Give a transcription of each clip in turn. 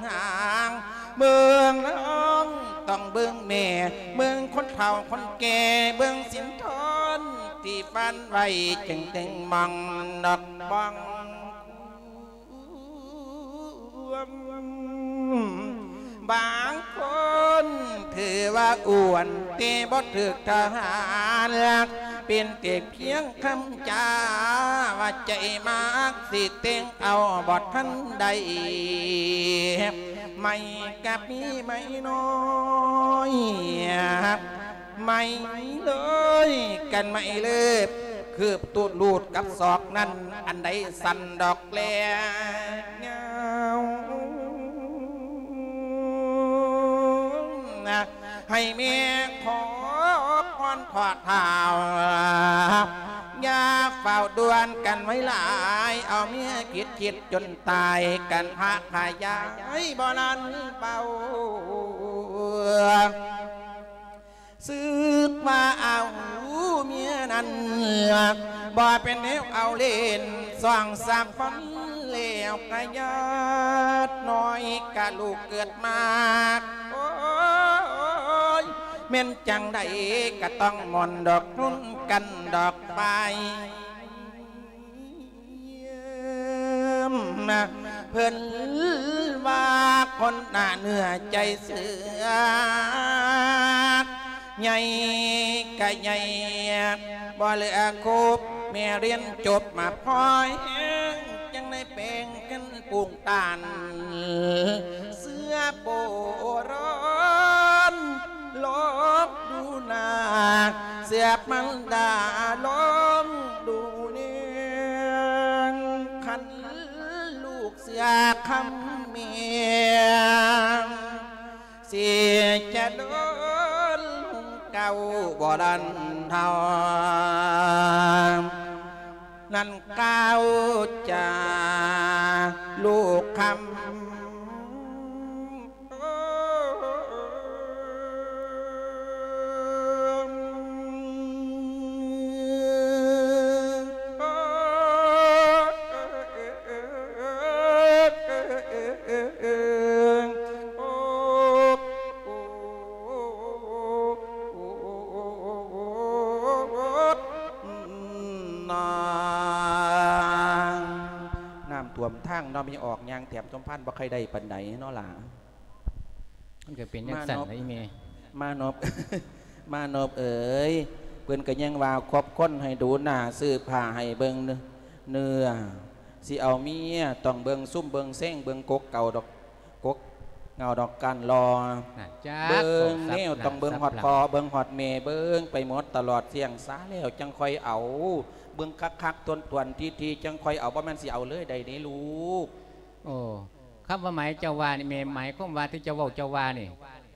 ຫາງ ເບິ່ງນ້ອງຕ້ອງເບິ່ງແມ່ ເບິ່ງຄົນເຖົ້າຄົນແກ່ ເບິ່ງສິນທອນທີ່ຝັນໄວ້ ຈຶ່ງເຖິງໝ່ອງດອກບອງຄວາມ. ບາງຄົນຖືວ່າອ້ວນ ແຕ່ບໍ່ຖືກທະຫານລັກ ເປັນແຕ່ພຽງຄຳຈາວ່າໃຈມັກ ຊິແຕ່ງເອົາບໍ່ທັນໄດ້ ໄມ້ກະມີໄມ້ນ້ອຍ ໄມ້ເລີຍກັນໄມ້ເລີບ ຄືບຕູດລູດກັບສອກນັ້ນ ອັນໃດສັ່ນດອກແລງງາວ. ໃຫ້ແມ່ຂໍພອນຂໍທ້າວ ຢ່າຟ້າວດ່ວນກັນໄວຫຼາຍ ເອົາເມຍຄິດຄິດຈົນຕາຍ ກັນພະຂະຫຍາຍບໍ່ລັນເປົ່າ ສຶກວ່າເອົາເມຍນັ້ນ ບໍ່ເປັນແນວເອົາເລ່ນ ສອງສາມຄົນແລ້ວກະຍາດນ້ອຍ ກະລູກເກີດມາ ໂອ້ຍ ແມ່ນຈັ່ງໃດກະຕ້ອງມ່ອນດອກ ຮຸນກັນດອກໄປ. ເພິ່ນວ່າຄົນໜ້າເນື້ອໃຈເຊື່ອ ໃຫຍ່ກະໃຫຍ່ ບໍ່ເຫຼືອຄົບ ແມ່ຮຽນຈົບມາພໍແຮງ ຈັ່ງໄດ້ແປງກັນປຸງຕານ ເສືອໂປຣອນ ລອງດູໜ້າ ເສືອມັນດາ ລອງດູແນງ ຄັນລູກເສືອຄຳແມ່ ຊິຈະເດີນເກົ່າບໍ່ລັນເທົາ ນັ້ນກ່າວຈາລູກຄຳ. ນ້ຳຖ້ວມທາງເນາະ ມີອອກຍ່າງແຖມສົມພານບໍ່ຄ່ອຍໄດ້ປານໃດເນາະຫຼ້າ. ມັນກໍເປັນຈັ່ງຊັ້ນລະອີ່ແມ່. ມານອບ ມານອບເອີຍ ເພິ່ນກໍຍັງວ່າຄອບຄົນໃຫ້ດູໜ້າ ຊື້ຜ້າໃຫ້ເບິ່ງເນື້ອ ຊິເອົາເມຍຕ້ອງເບິ່ງຊຸ່ມເບິ່ງແຊງ ເບິ່ງກົກເກົ່າດອກ ກົກເຫງົ້າດອກກ້ານລໍ ເບິ່ງແນວຕ້ອງເບິ່ງຮອດພໍ່ ເບິ່ງຮອດແມ່ ເບິ່ງໄປໝົດຕະຫຼອດ ສ່ຽງສາແລ້ວຈັ່ງຄ່ອຍເອົາ ເບິ່ງຄັກໆ ຖ້ວນໆ ທີ່ໆ ຈັ່ງຄ່ອຍເອົາ ບໍ່ແມ່ນຊິເອົາເລີຍໄດ້ເດ້ລູກ. ໂອ້ ຄຳວ່າໝາຍເຈົ້າວ່ານີ້ແມ່ ໝາຍຄວາມວ່າທີ່ເຈົ້າເວົ້າເຈົ້າວ່ານີ້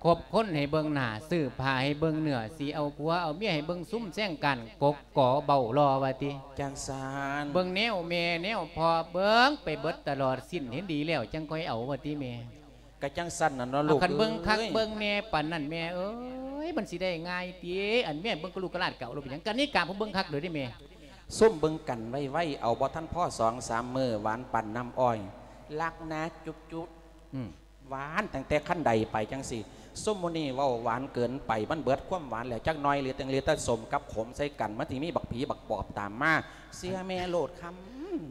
ຄົບຄົນໃຫ້ເບິ່ງໜ້າ ຊື້ຜ້າໃຫ້ເບິ່ງເນື້ອ ຊິເອົາຜົວເອົາເມຍໃຫ້ເບິ່ງຊຸ່ມແຊງກ້ານກົກກໍເບົ້າລໍວ່າຕິ. ຈັ່ງຊັ້ນ ເບິ່ງແນວແມ່ແນວພໍ່ ເບິ່ງໄປເບິດຕະຫຼອດສິ້ນ ເຫັນດີແລ້ວຈັ່ງຄ່ອຍເອົາວ່າຕິແມ່. ກະຈັ່ງຊັ້ນນະເນາະລູກເອີຍ ຄັນເບິ່ງຄັກເບິ່ງແນ່ປານນັ້ນແມ່ເອີຍ ມັນຊິໄດ້ງ່າຍຕິ. ອັນແມ່ເບິ່ງກະລູກກະຫຼາດກະເອົາໂລດ ເປັນຫຍັງ ກະນິກາຜູ້ເບິ່ງຄັກເດີເດ້ແມ່. ຊຸ່ມເບິ່ງກັນໄວໆ ເອົາບໍ່ທັນພໍສອງສາມມື້ ຫວານປານນ້ຳອ້ອຍ ລັກນາຈຸບໆ ອືມ ຫວານຕັ້ງແຕ່ຄັນໃດໄປຈັ່ງຊີ້. ຊຸມມື້ນີ້ເວົ້າຫວານເກີນໄປ ມັນເບິດຄວາມຫວານແລ້ວຈັກໜ່ອຍ ເຫຼືອແຕ່ ເຫຼືອແຕ່ສົ້ມກັບຂົມໃສ່ກັນ ມັນຊິມີບັກຜີບັກປອບຕາມມາ. ເຊື່ອແມ່ໂລດຄຳ.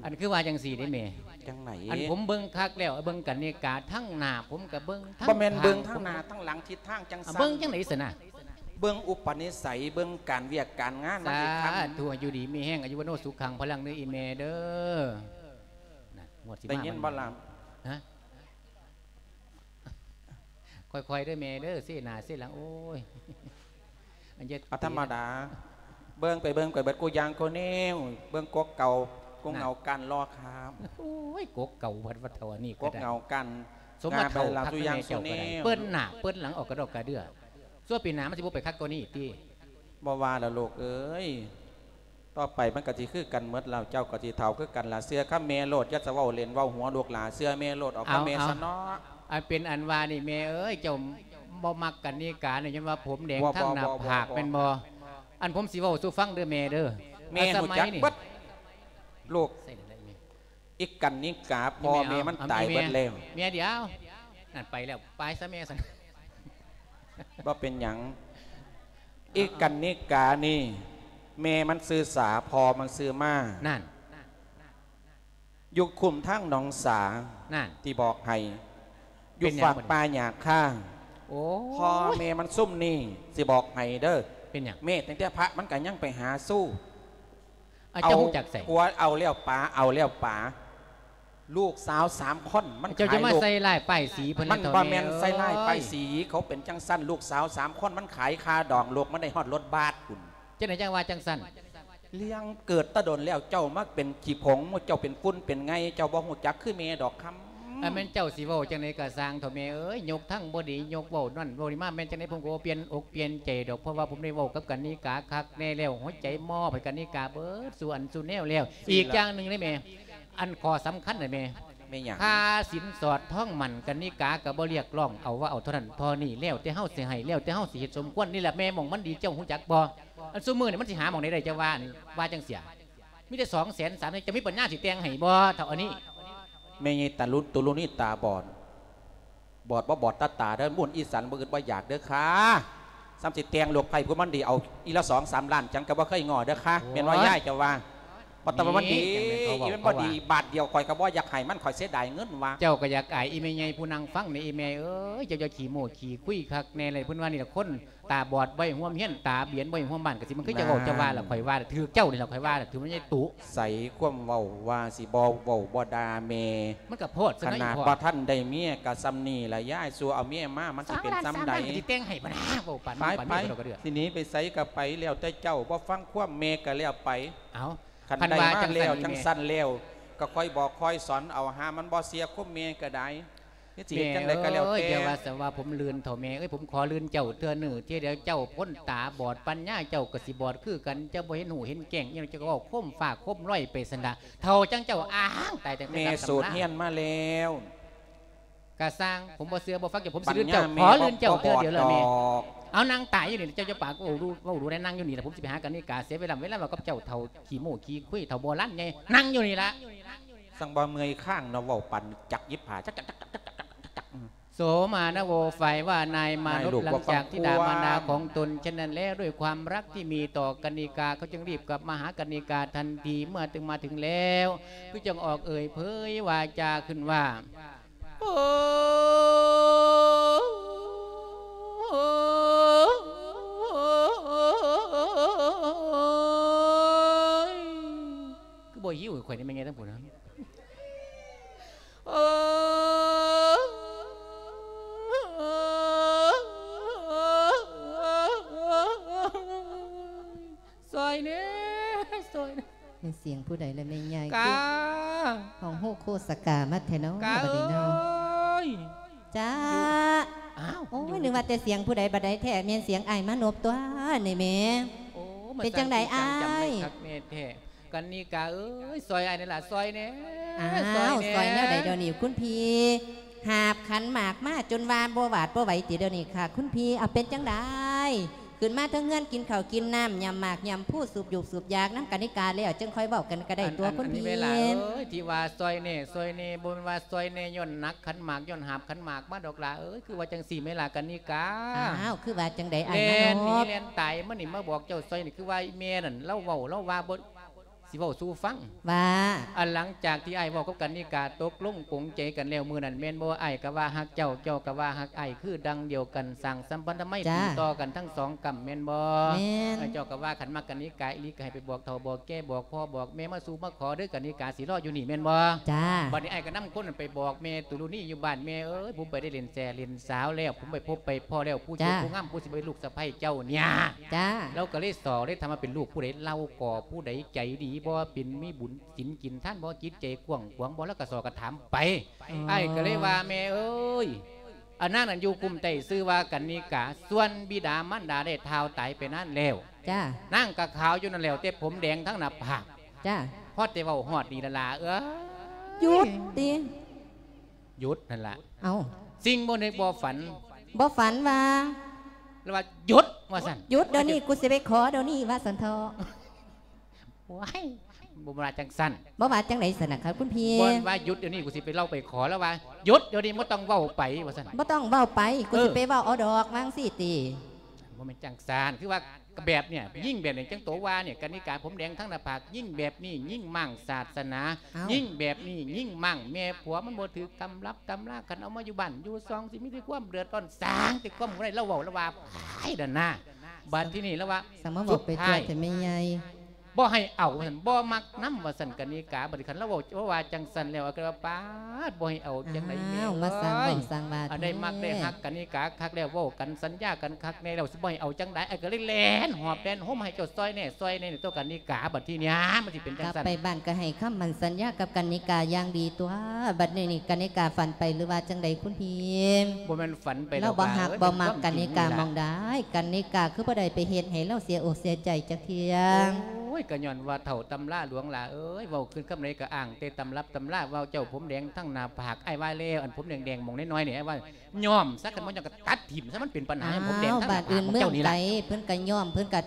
ອັນຄືວ່າຈັ່ງຊີ້ເດ້ແມ່. ຈັ່ງໃດ? ອັນຜົມເບິ່ງຄັກແລ້ວ ເບິ່ງກັນນິກາ ທັງໜ້າຜົມກະເບິ່ງ ທັງ ບໍ່ແມ່ນເບິ່ງທັງໜ້າທັງຫຼັງທິດທາງຈັ່ງຊັ້ນ. ເບິ່ງຈັ່ງໃດຊັ້ນນະ? ເບິ່ງອຸປະນິໄສ ເບິ່ງການວຽກການງານມັນຊິຄັນ. ສາທຸ ຢູ່ດີມີແຮງ ອາຍຸວັນໂນສຸຂັງພະລັງເດີອີ່ແມ່ເດີ. ນະ ງວດຊິມາ ໄດ້ຍິນບໍ່ລະ? ຮະ? ຄ່ອຍໆເດີແມ່ເດີ ເຊໜ້າເຊຫຼັງ ໂອ້ຍ ອັນເຈັດ ອາ ທຳມະດາ ເບິ່ງໄປເບິ່ງໄປເບິດກູຢ່າງກູແນວ ເບິ່ງກົກເກົ່າ ກົກເຫງົ້າກ້ານລໍຄາມ. ໂອ້ຍ ກົກເກົ່າວັດວັດເຖົ້າອັນນີ້ ກົກເຫງົ້າກ້ານ ສົມມາເຖົ້າຄັກແມ່ເຈົ້າກໍໄດ້ ເປີດໜ້າເປີດຫຼັງອອກກະດອກກະເດື່ອ ຊົ່ວປີໜ້າມັນຊິບໍ່ໄປຄັກກວ່ານີ້ຕິ. ບໍ່ວ່າລະລູກເອີຍ ຕໍ່ໄປມັນກະຊິຄືກັນໝົດແລ້ວ ເຈົ້າກະຊິເຖົ້າຄືກັນລະ. ເຊື່ອຄຳແມ່ໂລດ ຢ່າສະເວົ້າເຫຼັ້ນເວົ້າຫົວລູກຫຼ້າ ເຊື່ອແມ່ໂລດ ເອົາຄຳແມ່ຊະເນາະ. ອັນເປັນອັນວ່ານີ້ແມ່ເອີຍ ເຈົ້າບໍ່ມັກກັນນິການີ້ ຍ້ອນວ່າຜົມແດງທາງໜ້າຜາກແມ່ນບໍ່? ອັນຜົມຊິເວົ້າສູ່ຟັງເດີແມ່ເດີ ແມ່ຮູ້ຈັກເບິດລູກ. ອີກກັນນິກາພໍ່ແມ່ມັນຕາຍເບິດແລ້ວ. ແມ່ດຽວ ນັ້ນໄປແລ້ວ ໄປຊະແມ່ຊັ້ນ. ບໍ່ເປັນຫຍັງ. ອີ່ກັນນິການີ້ ແມ່ມັນຊື່ສາ ພໍ່ມັນຊື່ມ້າ. ນັ້ນ ຢູ່ຄຸ້ມທາງໜອງສາ. ນັ້ນ ທີ່ບອກໃຫ້ ຢູ່ ເປັນຫຍັງ ຟາກ ບັດນີ້ ປ່າຫຍ້າຄາ. ໂອ້ຍ ພໍ່ແມ່ມັນຊຸມນີ້ ຊິບອກໃຫ້ເດີ. ເປັນຫຍັງ? ແມ່ ຕັ້ງແຕ່ພະມັນກໍຍັງໄປຫາຊູ້. ອາ ເຈົ້າຮູ້ຈັກໃສ? ເອົາຜົວເອົາແລ້ວປາ ເອົາແລ້ວປາ. ລູກສາວສາມຄົນມັນຂາຍລູກ. ເຈົ້າຈະມາໃສ່ຮ້າຍປ້າຍສີເພິ່ນ ມັນບໍ່ແມ່ນໃສ່ຮ້າຍປ້າຍສີ. ເອີຍ ເຂົາເປັນຈັ່ງຊັ້ນ ລູກສາວສາມຄົນມັນຂາຍຄ່າດອງລູກ ມັນໄດ້ຮອດລົດບັສພຸ້ນ. ຈັ່ງໃດຈັ່ງວ່າຈັ່ງຊັ້ນ? ເລື່ອງເກີດແຕ່ດົນແລ້ວ ເຈົ້າມາເປັນຂີ້ຜົງ ເຈົ້າເປັນຝຸ່ນເປັນໄງ່ ເຈົ້າບໍ່ຮູ້ຈັກຄືແມ່ດອກຄຳ. ອັນແມ່ນເຈົ້າຊິເວົ້າຈັ່ງໃດກໍຊ່າງເຖາະແມ່ເອີຍ ຍົກທັງບໍ່ດີ ຍົກເວົ້ານັ້ນເວົ້ານີ້ມາ ແມ່ນຈັ່ງໃດ ຜົມກໍບໍ່ປ່ຽນອົກປ່ຽນໃຈດອກ ເພາະວ່າຜົມໄດ້ເວົ້າກັບກັນນິກາຄັກແນ່ແລ້ວ ຫົວໃຈມອບໃຫ້ກັນນິກາເບິດສູ່ອັນສູ່ແນວແລ້ວ. ອີກຢ່າງໜຶ່ງເດ້ແມ່ ອັນຂໍ້ສຳຄັນນະແມ່ ແມ່ນຫຍັງ? ຄ່າສິນສອດທອງໝັ້ນກັນນິກາກໍບໍ່ຮຽກຮ້ອງເອົາວ່າເອົາເທົ່ານັ້ນເທົ່ານີ້ ແລ້ວແຕ່ເຮົາຊິໃຫ້ ແລ້ວແຕ່ເຮົາຊິເຮັດສົມຄວນ. ນີ້ລະແມ່ ໝ່ອງມັນດີ ເຈົ້າຮູ້ຈັກບໍ່? ອັນຊຸມື້ນີ້ມັນຊິຫາໝ່ອງໃດໄດ້ ເຈົ້າວ່າ ອັນວ່າຈັ່ງຊີ້ ມີແຕ່ສອງແສນສາມແສນ ເຈົ້າມີປັນຍາຊິແຕ່ງໃຫ້ບໍ່ເທົ່າອັນນີ້? ແມ່ໃຫຍ່ຕາລຸນ ຕຸລຸນີຕາບອດ ບອດບໍ່ບອດຕາຕາເດີ ໝູ່ອີ່ສັນບໍ່ອຶດບໍ່ຢາກເດີຄ່າ. ສ່ຳຊິແຕ່ງລູກໃຜຜູ້ມັນດີ ເອົາອີ່ລະສອງສາມລ້ານ ຈັ່ງກໍບໍ່ເຄີຍງໍ້ເດີຄ່າ. ໂອ້ຍ ແມ່ນວ່າຍາຍເຈົ້າວ່າ ເພາະແຕ່ວ່າມັນດີ ນີ້ຈັ່ງແມ່ນເຂົາເວົ້າ ອີ່ມັນບໍ່ດີ ເຂົາວ່າ ບາດດຽວຂ້ອຍກໍບໍ່ຢາກໃຫ້ມັນ ຂ້ອຍເສຍດາຍເງິນວ່າ. ເຈົ້າກໍຢາກອາຍອີ່ແມ່ໃຫຍ່ຜູ້ນັ່ງຟັງນີ້ ອີ່ແມ່ເອີຍ ເຈົ້າຢ່າຂີ້ໂມ້ຂີ້ຄຸຍຄັກແນ່ເລີຍ. ເພິ່ນວ່ານີ້ລະຄົນ ຕາບອດບໍ່ໃຫ້ຮ່ວມຮຽນ ຕາບຽນບໍ່ໃຫ້ຮ່ວມບ້ານ ກະຊິມັນຄືເຈົ້າເວົ້າ ເຈົ້າວ່າລະ ຂ້ອຍວ່າລະ ຖືກເຈົ້ານີ້ລະ ຂ້ອຍວ່າລະ ຖືກແມ່ນໃຫຍ່ຕຸ. ໃສຄວາມເວົ້າວ່າຊິບໍ່ເວົ້າບໍ່ດ່າແມ່ ມັນກະໂພດຊະເນາະ ຂະໜາດ ອີ່ພໍ່ ບໍ່ທັນໄດ້ເມຍກະສ່ຳນີ້ລະຍາຍ ສູ່ເອົາເມຍມາ ມັນຊິເປັນສ່ຳໃດ? ສອງລ້ານສາມລ້ານກະຊິແຕ່ງໃຫ້ບໍ່ນະ ເວົ້າປານນັ້ນປານນີ້ ຂ້ອຍກໍເດືອດ. ຊິໜີໄປໃສກະໄປ ແລ້ວແຕ່ເຈົ້າ ບໍ່ຟັງຄວາມແມ່ກະແລ້ວໄປ. ເອົ້າ ຄັນໄດ້ມາແລ້ວ ຄັນວ່າຈັ່ງຊັ້ນນີ້ແມ່ ຈັ່ງຊັ້ນແລ້ວ ກະຄ່ອຍບອກຄ່ອຍສອນເອົາ ຫາມັນບໍ່ເສຍຄວາມແມ່ກະໄດ້. ເຮັດຊິເຮັດຈັ່ງໃດກໍແລ້ວແຕ່. ແມ່ເອີຍ ຢ່າວ່າແຕ່ວ່າຜົມລື່ນເຖົ້າແມ່ເອີຍ ຜົມຂໍລື່ນເຈົ້າເທື່ອໜຶ່ງ ເທື່ອດຽວເຈົ້າຄົນຕາບອດ ປັນຍາເຈົ້າກໍຊິບອດຄືກັນ ເຈົ້າບໍ່ເຫັນຮູ້ເຫັນແຈ້ງຫຍັງ ເຈົ້າກໍເວົ້າໂຄມຟ້າໂຄມລອຍໄປຊັ້ນດາ ເຖົ້າຈັ່ງເຈົ້າອ້າງຕາຍ. ແຕ່ແມ່ສູດຮຽນມາແລ້ວ ກະຊ່າງ ຜົມບໍ່ເຊື່ອບໍ່ຟັງເຈົ້າ ຜົມຊິລື່ນເຈົ້າ ຂໍລື່ນເຈົ້າເທື່ອດຽວລະແມ່. ເອົາ ນັ່ງຕາຍຢູ່ນີ້ ເຈົ້າຈະປາກເວົ້າດູ ເວົ້າດູແດ່ ນັ່ງຢູ່ນີ້ລະ ຜົມຊິໄປຫາກັນນິກາ ເສຍເວລາ ເວລາເວົ້າກັບເຈົ້າ ເຖົ້າຂີ້ໂມ້ຂີ້ຄຸຍ ເຖົ້າໂບລານໃຫຍ່ ນັ່ງຢູ່ນີ້ລະ. ຊ່າງບໍ່ເມື່ອຍຄ້າງເນາະ ເວົ້າປານຈັກຫຍິບຜ້າ ຈັກໆ ໂສມານະໂວ ຝ່າຍວ່ານາຍມານຸດ ຫຼັງຈາກທິດາມານດາຂອງຕົນເຊັ່ນນັ້ນແລ້ວ ດ້ວຍຄວາມຮັກທີ່ມີຕໍ່ກັນນິກາ ເຂົາຈຶ່ງຣີບກັບມາຫາກັນນິກາທັນທີ ເມື່ອເຖິງມາເຖິງແລ້ວ ຄືຈັ່ງອອກເອີ່ຍເຜີຍວາຈາຂຶ້ນວ່າ ໂອ້ຍ ຄືບໍ່ຫິວຂ້ອຍນີ້ແມ່ນຫຍັງທັງພຸ້ນນະ? ໂອ້ຍ ຊ່ອຍແດ່ ຊ່ອຍແດ່. ແມ່ນສຽງຜູ້ໃດລະແມ່ໃຫຍ່? ກາ ຄືຮ້ອງໂຮໂຄສະກາມາແທ້ເນາະ ກາ ບັດນີ້ເນາະ ເອີຍ. ຈ້າ ອ້າວ ໂອ້ຍ ນຶກວ່າແຕ່ສຽງຜູ້ໃດ ບັດໃດແທ້ ແມ່ນສຽງອ້າຍມານົບຕົວນີ້ແໝ່. ໂອ້ ເປັນຈັ່ງໃດອ້າຍ? ຈັງໄດ້ຄັກແນ່ແທ້. ກັນນິກາເອີຍ ຊ່ອຍອ້າຍແດ່ລະ ຊ່ອຍແດ່. ອ້າວ ຊ່ອຍແດ່ ຊ່ອຍແນວໃດດຽວນີ້ຄຸນພີ່? ຫາບຂັນໝາກມາຈົນວ່າບໍ່ຫວາດບໍ່ໄຫວຕິດຽວນີ້ຄ່ະຄຸນພີ່? ເອົາ ເປັນຈັ່ງໃດ? ຂຶ້ນມາເທິງເຮືອນກິນເຂົ້າກິນນ້ຳ ຫຍ້ຳໝາກຫຍ້ຳພູ ສູບຢູບສູບຢາກນຳກັນນິກາແລ້ວ ຈຶ່ງຄ່ອຍເວົ້າກັນກໍໄດ້ຕົວະຄຸນພີ່. ອັນນີ້ແມ່ຫຼ້າເອີຍ ທີ່ວ່າຊ່ອຍແດ່ ຊ່ອຍແດ່ ບໍ່ແມ່ນວ່າຊ່ອຍແດ່ຍ້ອນໜັກຂັນໝາກ ຍ້ອນຫາບຂັນໝາກມາດອກຫຼ້າເອີຍ. ຄືວ່າຈັ່ງຊີ້ແມ່ຫຼ້າກັນນິກາ. ອ້າວ ຄືວ່າຈັ່ງໃດອ້າຍມານົບ? ແລ່ນໜີແລ່ນຕາຍມານີ້ ມາບອກເຈົ້າຊ່ອຍນີ້ ຄືວ່າອີ່ແມ່ນັ້ນລາວເວົ້າ ລາວວ່າບໍ່ ຊິເວົ້າສູ່ຟັງວ່າ ອັນຫຼັງຈາກທີ່ອ້າຍເວົ້າກັບກັນນິກາ ຕົກລົງປົງໃຈກັນແລ້ວມື້ນັ້ນແມ່ນບໍ່? ອ້າຍກໍວ່າຮັກເຈົ້າ ເຈົ້າກໍວ່າຮັກອ້າຍ ຄືດັ່ງດຽວກັນ ສ້າງສຳພັນທຳໄມ ຈ້າ ຕີຕໍ່ກັນທັງສອງກຳແມ່ນບໍ່? ແມ່ນ. ເຈົ້າກໍວ່າຄັນມັກກັນນິກາອີ່ຫຼີ ກໍໃຫ້ໄປບອກເຖົ້າບອກແກ່ ບອກພໍ່ບອກແມ່ມາສູ່ມາຂໍເດີ ກັນນິກາຊິລໍຢູ່ນີ້ແມ່ນບໍ່? ຈ້າ. ບັດນີ້ອ້າຍກໍນຳຄົນນັ້ນໄປບອກແມ່ຕຸລຸນີຢູ່ບ້ານ ແມ່ເອີຍ ຜົມໄປໄດ້ຫຼິ້ນແຊຫຼິ້ນສາວແລ້ວ ຜົມໄປພົບໄປພໍ້ແລ້ວ ຜູ້ເຈົ້າ ຈ້າ ຜູ້ງາມ ຜູ້ຊິເປັນລູກສະໃພ້ເຈົ້ານີ້. ຈ້າ. ລາວກໍເລີຍສໍ້ເລີຍຖາມວ່າເປັນລູກຜູ້ໃດ ລາວກໍຜູ້ໃດ ໃຈດີບໍ່ ເປັນມີບຸນ ສິນກິນທານບໍ່ ຈິດໃຈກວ້າງຂວາງບໍ່ ລາວກໍສໍ້ກໍຖາມໄປ. ອໍ ອ້າຍກໍເລີຍວ່າ ແມ່ເອີຍ ອັນນາງນັ້ນຢູ່ຄຸ້ມໃຕ້ຊື່ວ່າກັນນິກາ ສ່ວນບິດາມານດາໄດ້ທ້າວຕາຍໄປນານແລ້ວ. ຈ້າ. ນາງກໍຂາວຢູ່ນັ້ນແລ້ວ ແຕ່ຜົມແດງທັງໜ້າຜາກ. ຈ້າ. ພໍແຕ່ເວົ້າຮອດນີ້ລະຫຼ້າເອີຍ ຢຸດຕິ ຢຸດຫັ້ນລະ. ເອົ້າ ສິ່ງບໍ່ນຶກບໍ່ຝັນ ບໍ່ຝັນວ່າ ລະວ່າຢຸດວ່າຊັ້ນ ຢຸດດຽວນີ້ ກູຊິໄປຂໍດຽວນີ້ວ່າຊັ້ນເຖາະ. ໂອ້ຍ ບໍ່ວ່າຈັ່ງຊັ້ນ ບໍ່ວ່າຈັ່ງໃດຊັ້ນນະຄັບຄຸນພີ່? ບໍ່ວ່າຢຸດດຽວນີ້ ກູຊິໄປເລົ່າໄປຂໍລາວວ່າ ຢຸດດຽວນີ້ ບໍ່ຕ້ອງເວົ້າໄປ ວ່າຊັ້ນ. ບໍ່ຕ້ອງເວົ້າໄປ ກູຊິ ເອີ ໄປເວົ້າເອົາດອກ ວ່າຈັ່ງຊີ້ຕິ? ບໍ່ແມ່ນຈັ່ງຊັ້ນ ຄືວ່າແບບເນີ້ຍ ຍິງແບບນີ້ ຈັ່ງໂຕວ່ານີ້ ກະນິກາ ຜົມແດງທັງໜ້າຜາກ ຍິງແບບນີ້ ຍິງມ້າງສາດສະໜາ ຍິງແບບນີ້ ຍິງມ້າງແມ່ຜົວ ມັນບໍ່ຖືກຕຳລັບຕຳລາ ຄັນເອົາມາຢູ່ບ້ານຢູ່ຊ່ອງ ຊິມີແຕ່ຄວາມເດືອດຮ້ອນ ສ້າງແຕ່ຄວາມບໍ່ໄດ້ ລາວເວົ້າລາວວ່າ ໄປນັ້ນນະ. ບາດທີນີ້ລາວວ່າ ສະມາບອກໄປທົ່ວແທ້ແມ່ໃຫຍ່ ບໍ່ໃຫ້ເອົາວ່າຊັ້ນ ບໍ່ມັກນຳວ່າຊັ້ນ ກະນິກາ. ບາດນີ້ຄັນລາວເວົ້າ ເວົ້າວ່າຈັ່ງຊັ້ນແລ້ວ ກໍວ່າ ປາດ ບໍ່ໃຫ້ເອົາຈັ່ງໃດແມ່ເອີຍ ມາສ້າງເວົ້າສ້າງວ່າ ອັນໃດມັກໄດ້ຮັກກະນິກາຄັກແລ້ວ ເວົ້າກັນສັນຍາກັນຄັກແນ່ແລ້ວ ຊິບໍ່ໃຫ້ເອົາຈັ່ງໃດ ອ້າຍກໍເລີຍແລ່ນຫອບແລ່ນໂຮມໃຫ້ເຈົ້າຊ່ອຍແນ່ ຊ່ອຍແນ່ ໂຕະກະນິກາ. ບາດທີນີ້ມັນຊິເປັນຈັ່ງຊັ້ນ ກັບໄປບ້ານກໍໃຫ້ຄຳໝັ້ນສັນຍາກັບກະນິກາຢ່າງດີຕົວະ. ບາດນີ້ນີ້ກະນິກາຝັນໄປ ຫຼືວ່າຈັ່ງໃດຄຸນພີ່? ບໍ່ແມ່ນຝັນໄປດອກ ລາວບໍ່ຮັກບໍ່ມັກກະນິກາໝ່ອງໃດ ກະນິກາຄືບໍ່ໄດ້ໄປເຮັດໃຫ້ລາວເສຍອົກເສຍໃຈຈັກເທື່ອ? ໂອ້ຍ ກໍຍ້ອນວ່າເຖົ້າຕຳລາຫຼວງຫຼ້າເອີຍ ເວົ້າຂຶ້ນຄຳໃດກໍອ້າງແຕ່ຕຳລັບຕຳລາ ເວົ້າເຈົ້າຜົມແດງທັງໜ້າຜາກ ອ້າຍວ່າແລ້ວ ອັນຜົມແດງໆ ໝ່ອງນ້ອຍໆນີ້ ອ້າຍວ່າຍ້ອມຊະ ຄັນບໍ່ຍ້ອມກໍຕັດຖິ້ມຊະ ມັນເປັນບັນຫາໃຫ້ຜົມແດງທັງໜ້າຜາກຂອງເຈົ້ານີ້ລະ. ບ້ານອື່ນເມືອງໄກ ເພິ່ນກໍຍ້ອມ ເພິ່ນກໍ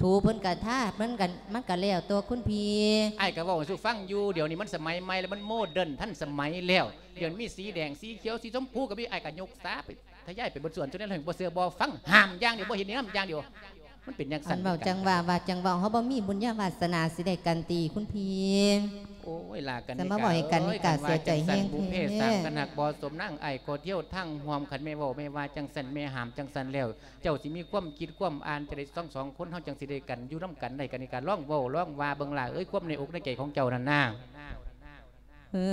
ຖູເພິ່ນກະທາ ມັນກະ ມັນກະແລ້ວຕົວະຄຸນພີ່. ອ້າຍກະເວົ້າສູ່ຟັງຢູ່ ດຽວນີ້ມັນສະໄໝໃໝ່ແລ້ວ ມັນໂມເດີນທັນສະໄໝແລ້ວ. ດຽວນີ້ມີສີແດງ ສີຂຽວ ສີຊົມພູກະມີ ອ້າຍກະຍົກສາໄປ ທະຍາຍໄປເບິດສ່ວນ ຈົນແນວເຮົງບໍ່ເຊື່ອບໍ່ຟັງ ຫ້າມຢ່າງດຽວ ບໍ່ເຫັນແນະນຳຢ່າງດຽວ. ມັນເປັນຈັ່ງຊັ້ນ ເວົ້າຈັ່ງວ່າ ວ່າຈັ່ງເວົ້າ ເຮົາບໍ່ມີບຸນຍາວາດສະໜາຊິໄດ້ກັນຕິຄຸນພີ່. ໂອ້ຍ ລາກັນ ສະມາເວົ້າໃຫ້ກັນນິກາເສຍໃຈແຮງແທ້ ບຸບເພສ້າງກັນຮັກບໍ່ສົມນາງ ອ້າຍກໍທ່ຽວທາງຮ່ວມ. ຄັນແມ່ເວົ້າແມ່ວ່າຈັ່ງຊັ້ນ ແມ່ຫ້າມຈັ່ງຊັ້ນແລ້ວ ເຈົ້າຊິມີຄວາມຄິດຄວາມອ່ານຈັ່ງໃດ ທັງສອງຄົນເຮົາຈັ່ງຊິໄດ້ກັນ ຢູ່ນຳກັນໄດ້ ກະນິກາ ລອງເວົ້າລອງວ່າເບິ່ງຫຼ້າເອີຍ ຄວາມໃນອົກໃນໃຈຂອງເຈົ້ານັ້ນນາ. ເອີ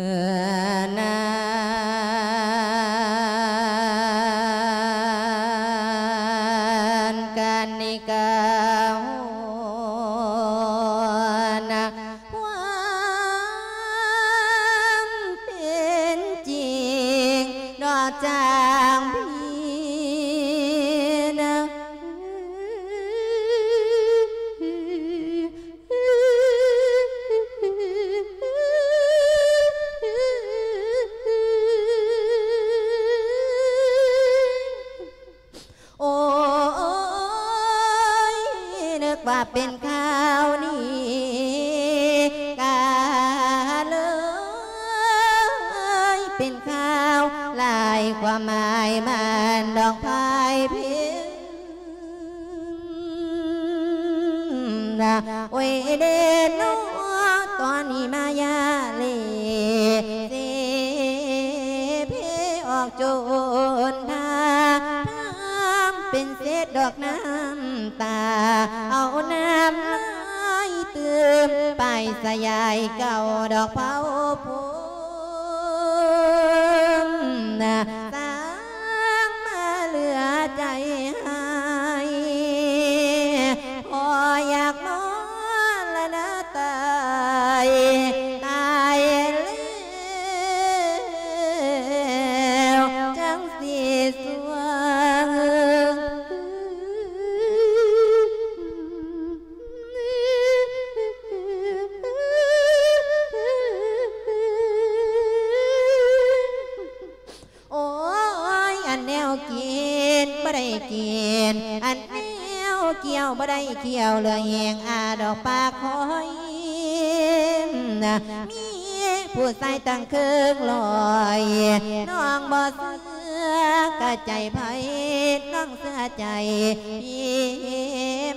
ນານ ກະນິກາ ຮູ້ນະ ຄວາມເປັນຈິງ ດອກຈາງພີນະ ໂອ້ຍ ນຶກວ່າເປັນຂ່າວດີ ກະເລີຍເປັນຂ່າວຫຼາຍຄວາມໝາຍ ມານດອກພາຍເພັງ ໂອ້ຍເດເນາະ ຕອນນີ້ມາຢາເລເສເພ ອອກໂຈນທາ ທາງເປັນເສດດອກນ້ຳຕາ ເອົານ້ຳລາຍຕື່ມ ປາຍສະຍາຍເກົ່າດອກເຜົາພົມ ສ້າງມາເຫຼືອໃຈຮ້າຍ ພໍຢາກມໍລະນະຕາຍ ຕາຍແລ້ວຈັ່ງຊິສ່ວງ. ໂອ້ຍ ອັນແນວກິນບໍ່ໄດ້ກິນ ອັນແນວກ່ຽວບໍ່ໄດ້ກ່ຽວ ເຫຼືອແຮງອາດອກປາກຄອຍ ມີຜູ້ຊາຍຕັ້ງເຄິ່ງຮ້ອຍ ນ້ອງບໍ່ເຊື່ອກະໃຈໃຜ ນ້ອງເຊື່ອໃຈ ທີ່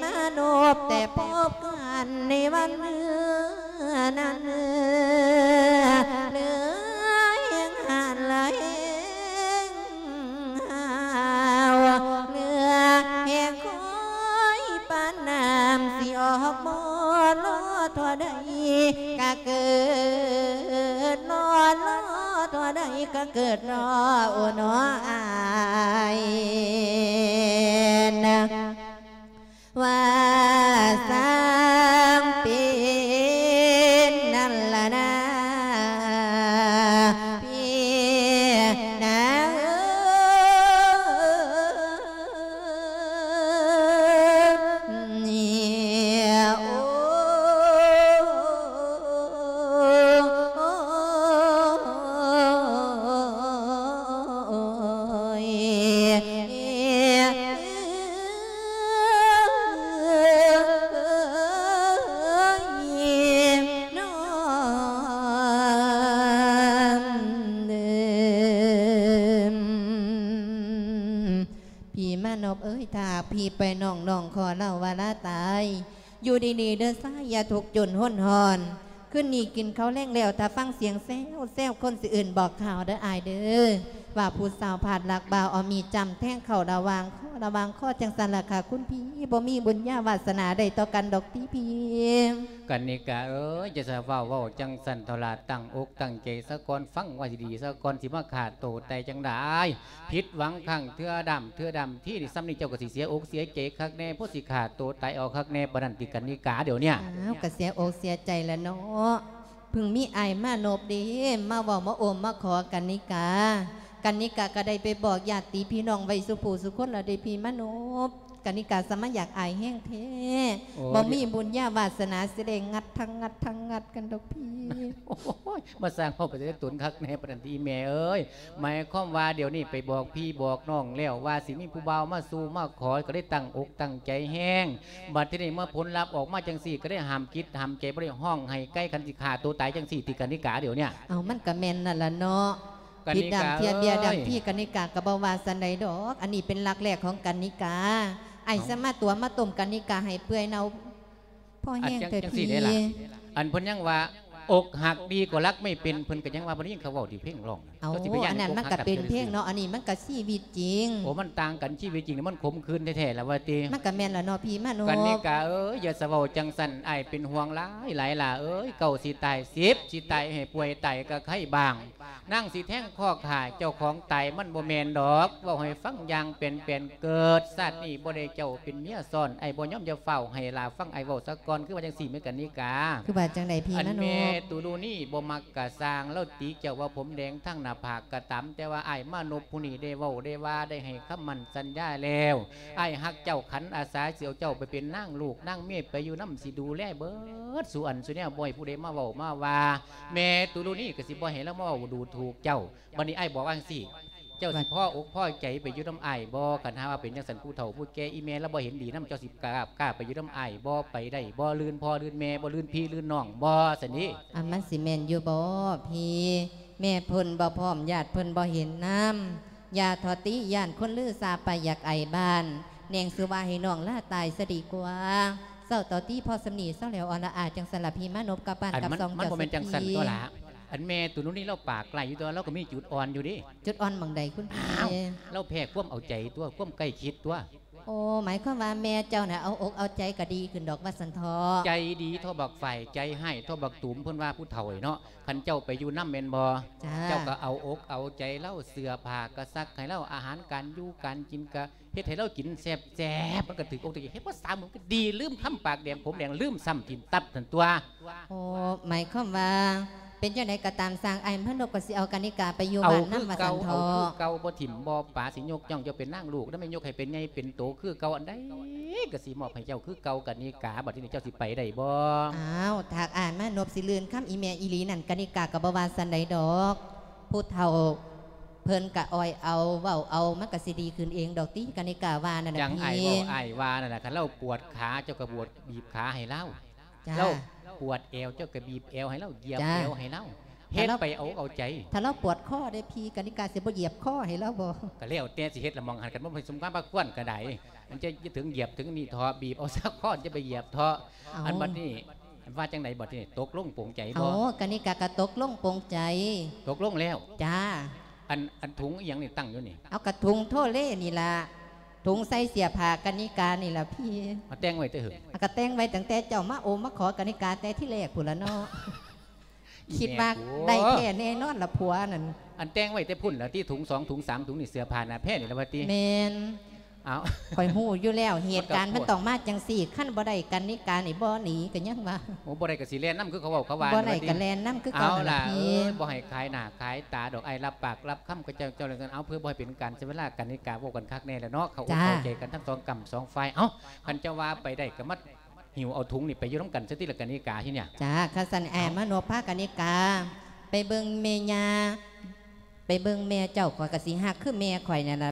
ມານົບແຕ່ພົບກັນໃນວັນເມື່ອນັ້ນ ເຫຼືອແຮງຫັ້ນລະແຮງ ຫາວເຫຼືອແຮງຄອຍ ປານນ້ຳຊິອອກບໍ່ລໍທໍ່ໃດກະເກີດ ລໍລໍທໍ່ໃດກະເກີດ ລໍໂອນໍອ້າຍນະ ວ່າຊ່າງເປັນນັ້ນລະນາ ພີ່ນາເອີຍ ໂອ້. ນອບເອີຍ ຖ້າຫາກພີ່ໄປນ້ອງ ນ້ອງຂໍເລົ່າວ່າລາຕາຍ ຢູ່ດີໆເດີຊາຍ ຢ່າທຸກຈົນຮົນຮ້ອນ ຄືນນີ້ກິນເຂົ້າແລງແລ້ວ ຖ້າຟັງສຽງແຊວໆ ຄົນຊິເອີ້ນບອກຂ່າວເດີອ້າຍເດີ ວ່າຜູ້ສາວພາດລັກບ່າວເອົາມີດຈ້ຳແທງເຂົ້າລະຫວ່າງຄໍ ລະຫວ່າງຄໍ ຈັ່ງຊັ້ນລະຄ່ະຄຸນພີ່ ບໍ່ມີບຸນຍາວາສະໜາໄດ້ຕໍ່ກັນດອກຕິພີ່. ກັນນິກາເອີຍ ຢ່າສະເວົ້າ ເວົ້າຈັ່ງຊັ້ນເຖົ້າຫຼ້າ ຕັ້ງອົກຕັ້ງໃຈສາກ່ອນ ຟັງວ່າຊິດີສາກ່ອນ ຊິມາຂ້າໂຕຕາຍຈັ່ງໃດ ຜິດຫວັງຄັ້ງເທື່ອດຳ ເທື່ອດຳທີນີ້ ສ່ຳນີ້ເຈົ້າກໍຊິເສຍອົກເສຍໃຈຄັກແນ່ ພໍຊິຂ້າໂຕຕາຍເອົາຄັກແນ່ປານນັ້ນຕິກັນນິກາ ດຽວເນີ້ຍ. ອ້າວ ກໍເສຍອົກເສຍໃຈລະເນາະ ເພິ່ງມີອ້າຍມານົບເດ້ ມາເວົ້າມາໂອມມາຂໍກັນນິກາ ກັນນິກາກໍໄດ້ໄປບອກຍາດຕິພີ່ນ້ອງໄວ້ສູ່ຜູ້ສູ່ຄົນແລ້ວເດ້ພີ່ມານົບ ກັນນິກາສະມາຢາກອາຍແຮງແທ້ ໂອ້ຍ ບໍ່ມີບຸນຍາວາສະໜາຊິໄດ້ງັດທັງງັດທັງງັດກັນດອກພີ່. ໂອ້ຍ ມາສ້າງເວົ້າໄປແຕ່ຕົນຄັກແນ່ປານນັ້ນຕິອີ່ແມ່ເອີຍ ໝາຍຄວາມວ່າດຽວນີ້ໄປບອກພີ່ບອກນ້ອງແລ້ວວ່າຊິມີຜູ້ບ່າວມາສູ່ມາຂໍ ກໍໄດ້ຕັ້ງອົກຕັ້ງໃຈແຮງ ບັດທີນີ້ມາຜົນລັບອອກມາຈັ່ງຊີ້ ກໍໄດ້ຫ້າມຈິດຫ້າມໃຈ ບໍ່ໄດ້ຮ້ອງໄຫ້ໄກ ຄັນຊິຂ້າໂຕຕາຍຈັ່ງຊີ້ຕິກັນນິກາ ດຽວເນີ້ຍ. ເອົາ ມັນກໍແມ່ນນັ້ນລະເນາະ ກັນນິກາ ຜິດດຳເທຍເບ້ຍດຳ ເອີຍ ພີ່ກັນນິກາກໍບໍ່ວ່າຊັ້ນໃດດອກ ອັນນີ້ເປັນຫຼັກແລກຂອງກັນນິກາ ອ້າຍ ເອົ້າ ສາມາດຕົວະມາຕົ້ມກັນນິກາໃຫ້ເປື່ອຍເນົ່າພໍແຮງແທ້ພີ່. ອັນເພິ່ນຍັງວ່າ ອົກຫັກດີກວ່າລັກໄມ່ເປັນ ເພິ່ນກໍຍັງວ່າ ບໍ່ໄດ້ຍິນເຂົາເວົ້າຕິເພງຮ້ອງ ເອົາ ເຈົ້າຊິໄປຢ້ານ ອັນນັ້ນມັນກໍເປັນເພງເນາະ ອັນນີ້ມັນກໍຊີວິດຈິງ. ໂອ້ ມັນຕ່າງກັນຊີວິດຈິງນີ້ ມັນຂົມຂືນແທ້ໆລະວ່າຕິ. ມັນກໍແມ່ນລະເນາະພີ່ມານົບ ກັນນິກາເອີຍ ຢ່າສະເວົ້າຈັ່ງຊັ້ນ ອ້າຍເປັນຫ່ວງຫຼາຍໆຫຼາເອີຍ ເກົ້າຊິຕາຍ ສິບຊິຕາຍ ໃຫ້ປ່ວຍຕາຍກໍໄຄບາງ ນາງຊິແທງຄໍຂ້າເຈົ້າຂອງຕາຍ ມັນບໍ່ແມ່ນດອກ ເວົ້າໃຫ້ຟັງຢ່າງແປນໆ ເກີດຊາດນີ້ບໍ່ໄດ້ເຈົ້າເປັນເມຍຊ້ອນ ອ້າຍບໍ່ຍອມ ຢ່າຟ້າວໃຫ້ຫຼ້າຟັງອ້າຍເວົ້າສາກ່ອນ ຄືວ່າຈັ່ງຊີ້ແມ່ກັນນິກາ. ຄືວ່າຈັ່ງໃດພີ່ມານົບ? ອັນແມ່ຕຸລຸນີບໍ່ມັກກະຊ່າງ ລາວຕິເຈົ້າວ່າຜົມແດງທັງໜ້າຜາກກະຕາມ ແຕ່ວ່າອ້າຍມານົບຜູ້ນີ້ໄດ້ເວົ້າໄດ້ວ່າ ໄດ້ໃຫ້ຄຳໝັ້ນສັນຍາແລ້ວ ອ້າຍຮັກເຈົ້າ ຂັນອາສາຊິເອົາເຈົ້າໄປເປັນນາງລູກນາງເມຍ ໄປຢູ່ນຳ ຊິດູແລເບິດສູ່ອັນສູ່ແນວ ບໍ່ໃຫ້ຜູ້ໃດມາເວົ້າມາວ່າ. ແມ່ຕຸລຸນີກໍຊິບໍ່ໃຫ້ລາວມາເວົ້າດູຖູກເຈົ້າ. ບັດນີ້ອ້າຍບອກວ່າຈັ່ງຊີ້ ເຈົ້າຊິພໍອົກພໍໃຈໄປຢູ່ນຳອ້າຍບໍ່? ຄັນຫາວ່າເປັນຈັ່ງຊັ້ນ ຜູ້ເຖົ້າຜູ້ແກ່ ອີ່ແມ່ລາວບໍ່ເຫັນດີນຳ ເຈົ້າຊິກ້າ ກ້າໄປຢູ່ນຳອ້າຍບໍ່? ໄປໄດ້ບໍ່? ລື່ນພໍ່ລື່ນແມ່ບໍ່? ລື່ນພີ່ລື່ນນ້ອງບໍ່? ຊັ້ນນີ້ ອັນມັນຊິແມ່ນຢູ່ບໍ່ພີ່? ແມ່ເພິ່ນບໍ່ພ້ອມ ຍາດເພິ່ນບໍ່ເຫັນນຳ ຢ່າທໍຕິ ຢ້ານຄົນລືຊາໄປຢາກໄອບ້ານ ແໜງຊື່ວ່າໃຫ້ນ້ອງລາຕາຍຊະດີກວ່າ. ເຊົາຕໍ່ຕິ ພໍສ່ຳນີ້ເຊົາແລ້ວ ອອລະອາ ຈັ່ງຊັ້ນລະພີ່ມານົບ ກັບບ້ານກັບຊ່ອງເຈົ້າ. ມັນບໍ່ແມ່ນຈັ່ງຊັ້ນຕົວລະ ອັນແມ່ຕຸລຸນີລາວປາກຮ້າຍຢູ່ ແຕ່ວ່າລາວກໍມີຈຸດອ່ອນຢູ່ເດ້. ຈຸດອ່ອນໝ່ອງໃດຄຸນພີ່? ອ້າວ ລາວແພ້ຄວາມເອົາໃຈຕົວະ ຄວາມໃກ້ຊິດຕົວະ. ໂອ້ ໝາຍຄວາມວ່າແມ່ເຈົ້ານະ ເອົາອົກເອົາໃຈກໍດີຂຶ້ນດອກວ່າຊັ້ນເຖາະ. ໃຈດີທໍ່ບັກຝ້າຍ ໃຈຮ້າຍທໍ່ບັກຕູມ ເພິ່ນວ່າຜູ້ເຖົ້າເນາະ. ຄັນເຈົ້າໄປຢູ່ນຳແມ່ນບໍ່? ຈ້າ. ເຈົ້າກໍເອົາອົກເອົາໃຈລາວ ເສື້ອຜ້າກໍຊັກໃຫ້ລາວ ອາຫານການຢູ່ການກິນກໍເຮັດໃຫ້ລາວກິນແຊບໆ ມັນກໍຖືກອົກຖືກໃຈ ເຮັດບໍ່ສາມມື້ມັນກໍດີ ລືມຄຳປາກແດງຜົມແດງ ລືມຊ້ຳຖິ້ມຕັບຫັ້ນຕົວະ. ໂອ້ ໝາຍຄວາມວ່າ ເປັນຈັ່ງໃດກໍຕາມຊ່າງ ອ້າຍມານົບກໍຊິເອົາກະນິກາໄປຢູ່ບ້ານນຳວ່າຊັ້ນເຖາະ. ເອົາຄືເກົ່າ ບໍ່ຖິ້ມບໍ່ປະ ຊິຍົກຍ້ອງເຈົ້າເປັນນາງລູກນຳ ແມ່ນຍົກໃຫ້ເປັນໃຫຍ່ເປັນໂຕຄືເກົ່າ ອັນໃດກໍຊິມອບໃຫ້ເຈົ້າຄືເກົ່າ. ກະນິກາ ບັດນີ້ເຈົ້າຊິໄປໄດ້ບໍ່? ອ້າວ ຖ້າອ້າຍມານົບຊິລື່ນຄຳອີ່ແມ່ອີ່ຫຼີນັ້ນ ກະນິກາກໍບໍ່ວ່າຊັ້ນໃດດອກ ຜູ້ເຖົ້າເພິ່ນກະອ້ອຍເອົາເວົ້າເອົາ ມັນກະຊິດີຂຶ້ນເອງດອກຕິ ກະນິກາວ່ານັ້ນນະ. ຈັ່ງອ້າຍເວົ້າ ອ້າຍວ່ານັ້ນນະ ຄັນລາວປວດຂາ ເຈົ້າກໍບວດ ບີບຂາໃຫ້ລາວ. ຈ້າ. ລາວປວດແອວ ເຈົ້າກໍບີບແອວໃຫ້ລາວ ຢຽບແອວໃຫ້ລາວ ເຮັດໄປເອົາເອົາໃຈ. ຖ້າລາວປວດຄໍເດ້ພີ່ ກະນິກາຊິບໍ່ຢຽບຄໍໃຫ້ລາວບໍ່? ກໍແລ້ວແຕ່ຊິເຮັດລະໝ່ອງຫັ້ນ ຄັນບໍ່ສົມຄວາມພາຄວນກໍໄດ້ ມັນຈະເຖິງຢຽບເຖິງນີ້ເທາະ ບີບເອົາຊະຄໍ ຈະໄປຢຽບເທາະ. ເອົາ ອັນບັດນີ້ ອັນວ່າຈັ່ງໃດບັດນີ້ ຕົກລົງປົງໃຈບໍ່? ໂອ້ ກະນິກາກໍຕົກລົງປົງໃຈ. ຕົກລົງແລ້ວ? ຈ້າ. ອັນ ອັນຖົງອີ່ຫຍັງນີ້ຕັ້ງຢູ່ນີ້? ເອົາ ກະຖົງໂທເລນີ້ລະ ຖົງໃສ່ເສື້ອຜ້າກະນິການີ້ລະພີ່. ເອົາແຕ່ງໄວ້ແຕ່ເຫິງ? ເອົາ ກະແຕ່ງໄວ້ຕັ້ງແຕ່ເຈົ້າມາໂອມມາຂໍກະນິກາແຕ່ທີແລກພຸ້ນລະເນາະ. ຄິດວ່າໄດ້ແທ້ແນ່ນອນລະຜົວນັ້ນ. ອັນແຕ່ງໄວ້ແຕ່ພຸ້ນລະຕິ ຖົງສອງຖົງສາມຖົງນີ້ ເສື້ອຜ້າໜ້າແພນີ້ລະວ່າຕິ? ແມ່ນ. ອ້າວ ຂ້ອຍຮູ້ຢູ່ແລ້ວ ເຫດການມັນຕ້ອງມາຈັ່ງຊີ້ ຄັນບໍ່ໄດ້ກະນິການີ້ບໍ່ໜີກໍຍັງວ່າ. ໂອ້ ບໍ່ໄດ້ກໍຊິແລ່ນນຳຄືເຂົາເວົ້າເຂົາວ່າ. ບໍ່ໄດ້ກໍແລ່ນນຳຄືເກົ່າ. ເອົາລະ ເອີຍ ບໍ່ໃຫ້ຂາຍໜ້າຂາຍຕາດອກ ອ້າຍຮັບປາກຮັບຄຳກັບເຈົ້າ ເຈົ້າຈັ່ງຊັ້ນ. ເອົາ ເພື່ອບໍ່ໃຫ້ເປັນການເສຍເວລາ ກະນິກາເວົ້າກັນຄັກແນ່ແລ້ວເນາະ ເຂົ້າອົກເຂົ້າໃຈກັນທັງສອງກ້ຳສອງຝ່າຍ. ເອົ້າ ຄັນເຈົ້າວ່າໄປໄດ້ກໍມາ ຫິ້ວເອົາຖົງນີ້ໄປຢູ່ນຳກັນຊະຕິລະກະນິກາ ທີ່ເນີ້ຍ. ຈ້າ ຄັນຊັ້ນ ເອົ້າ ອ້າຍມານົບພາກະນິກາໄປເບິ່ງແມ່ຍ່າ ໄປເບິ່ງແມ່ເຈົ້າ ຂ້ອຍກໍຊິຮັກຄືແມ່ຂ້ອຍນັ້ນລະ.